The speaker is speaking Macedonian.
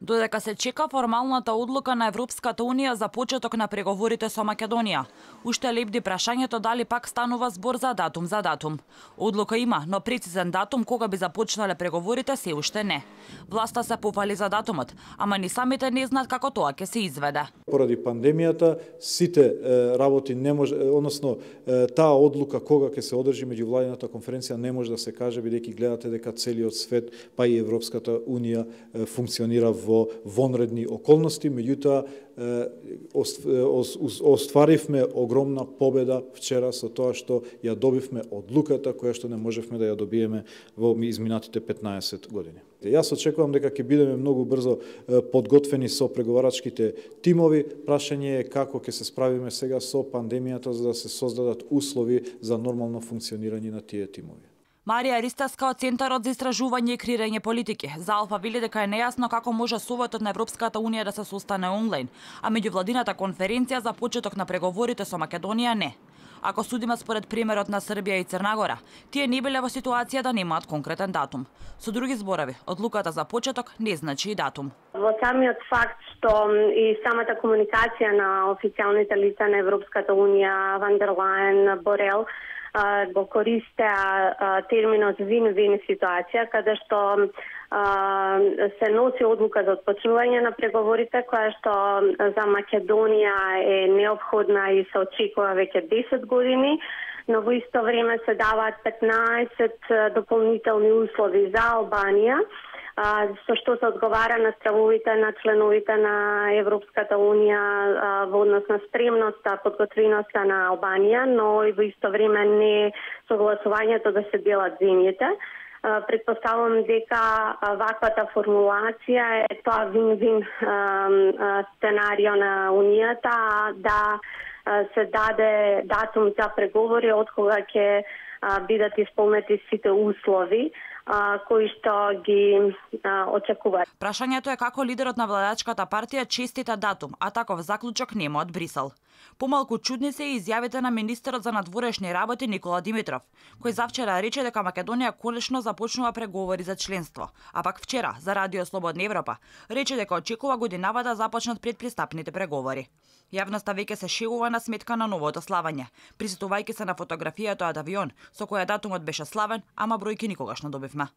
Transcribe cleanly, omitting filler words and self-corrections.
Додека се чека формалната одлука на Европската Унија за почеток на преговорите со Македонија, уште лебди прашањето дали пак станува збор за датум. Одлука има, но прецизен датум кога би започнале преговорите се уште не. Власта се пофали за датумот, ама ни самите не знаат како тоа ќе се изведе. Поради пандемијата сите работи не може, односно таа одлука кога ќе се одржи меѓувладината конференција не може да се каже, бидејќи гледате дека целиот свет, па и Европската Унија функционира во вонредни околности, меѓутоа остваривме огромна победа вчера со тоа што ја добивме одлуката која што не можевме да ја добиеме во изминатите 15 години. Јас очекувам дека ќе бидеме многу брзо подготвени со преговарачките тимови. Прашање е како ќе се справиме сега со пандемијата за да се создадат услови за нормално функционирање на тие тимови. Марија Ристевска од Центарот за истражување и креирање политики за Алфа вели дека е нејасно како може Советот на Европската Унија да се состане онлайн, а меѓувладината конференција за почеток на преговорите со Македонија не. Ако судиме според примерот на Србија и Црна Гора, тие не биле во ситуација да немаат конкретен датум. Со други зборови, одлуката за почеток не значи и датум. Во самиот факт што и самата комуникација на официјалните лица на Европската Унија, Ван дер Лајен, Борел, го користеа терминот вин-вин ситуација, каде што се носи одлука за отпочнување на преговорите, која што за Македонија е неопходна и се очекува веќе 10 години, но во исто време се даваат 15 дополнителни услови за Албанија, со што се одговара на стравовите на членовите на Европската Унија во однос на спремноста, подготвеноста на Албанија, но и во исто време не согласувањето да се делат земјите. Предпоставувам дека ваквата формулација е тоа вин-вин сценарио на Унијата, да се даде датум за преговори од кога ќе бидат исполнети сите услови кои што ги очекуваат. Прашањето е како лидерот на владачката партија честита датум, а таков заклучок нема од Брисел. Помалку чудни се и изјавите на министерот за надворешни работи Никола Димитров, кој завчера рече дека Македонија конечно започнува преговори за членство, а пак вчера за Радио Слободна Европа рече дека очекува годинава да започнат предпристапните преговори. Јавноста веќе се шегува на сметка на новото славање, присетувајќи се на фотографијата од авион со која датумот беше славен, ама бројки никогаш не добивме.